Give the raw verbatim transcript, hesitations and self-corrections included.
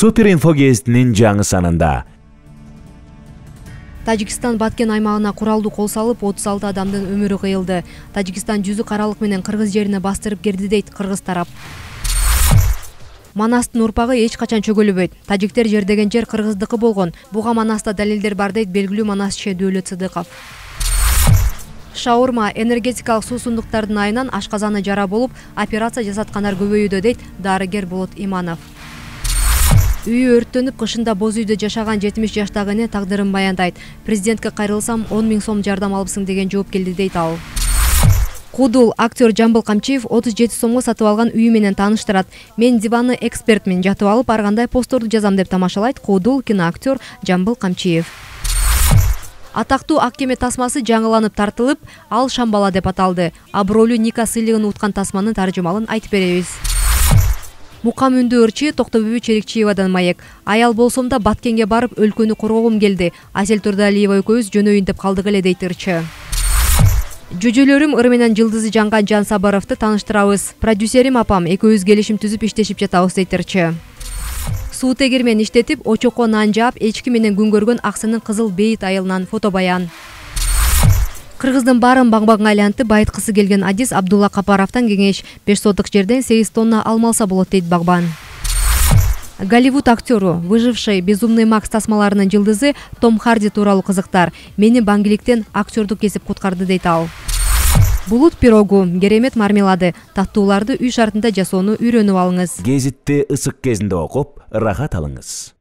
Супер инфо гезитинин жаңы санында Тажикстан Баткен аймагына куралдуу кол салып, отуз алты адамдын өмүрү кыйылды. Тажикстан жүзү каралык менен кыргыз жерине бастырып кирди дейт кыргыз тарап. Манастын урпагы эч качан чөгөлбөйт. Тажиктер жердеген жер кыргыздыкы болгон. Буга Манаста далилдер бар дейт белгилүү Манас Шедүүлөт Сыдыков. Шаурма энергетикалык суусундуктардын айынан ашказаны жара болуп, операция жасаткандар көбөйүүдө дейт дарыгер Болот Иманов. Үйү өрттөнүп, кышында боз үйдө жашаган жетимиш жаштагы эне тагдырын баяндайт. Президентке кайрылсам он миң сом жардам алыпсың деген жооп келди дейт ал. Кудул актер Жамбыл Камчиев отуз жети сомго сатып алган үйү менен тааныштырат. Мен диванны экспертмин, жатып алып ар кандай постторду жазам деп тамашалайт Кудул киноактер Жамбыл Камчиев. Атактуу ак кеме тасмасы жаңыланып тартылып, ал Шамбала деп аталды. Абройлуу Ника сыйлыгын уткан тасманын таржымалын айтып беребиз. Мукам үндү ырчы Токтобүбү Черикчиевадан маек. Аял болсом да Баткенге барып өлкөнү коргогум келди. Асель Турдалиева экөөбүз жөнөйүн деп калдык эле дейт ырчы. Жүжөлөрүм ыры менен жылдызы жанган Жан Сабаровду тааныштырабыз. Продюсерим апам, экөөбүз келишим түзүп иштешип жатабыз дейт ырчы. Суу тегирмен иштетип, очокко нан жаап, эчки менен күн көргөн Аксынын кызыл бейит айылынан фото баян. Кыргыздын баарын багбагга айлантып байыткысы келген Адис Абдулла Капаровдон кеңеш: беш соток жерден сегиз тонна алмалса болот дейт багбан. Голливуд актеру, выживший Безумный Макс тасмаларынын жылдызы Том Харди тууралуу кызыктар. Мени баңгиликтен актердук кесип куткарды дейт ал. Булут пирогу, керемет мармелады, таттууларды үй шартында жасоону үйрөнүп алыңыз. Гезитти ысык кезинде окуп, ырахат алыңыз.